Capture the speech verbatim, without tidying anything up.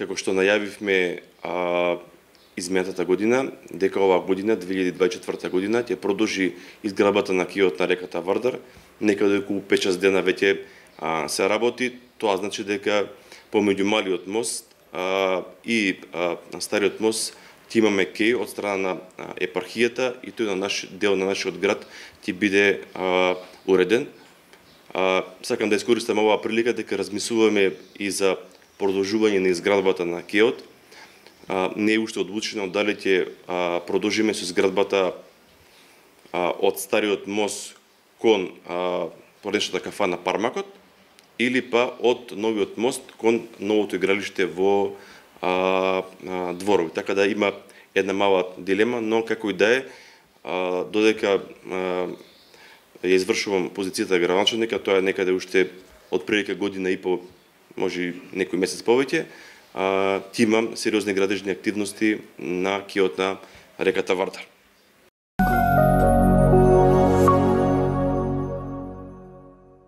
како што најавивме а, изминатата година, дека оваа година, две илјади дваесет и четврта година, ќе продолжи изградбата на киот на реката Вардар. Некаде околу пет-шест дена веќе а, се работи. Тоа значи дека помеѓу малиот мост а, и а, стариот мост ќе имаме кеј од страна на а, епархијата и тој на наш дел на нашиот град ќе биде а, уреден. А, сакам да искористам оваа прилика дека размислуваме и за продолжување на изградбата на кеот. А, не е уште одлучено дали ќе а, продолжиме со изградбата а, од стариот мост кон а, поредишната кафана Пармакот или па од новиот мост кон новото игралиште во а, а, Дворови. Така да има една мала дилема, но како и да е, а, додека а, ја извршувам позицијата градоначалника, тоа е некаде уште од прилика година и по, може некој месец повеќе, а, ти имам сериозни градежни активности на киот на реката Вардар.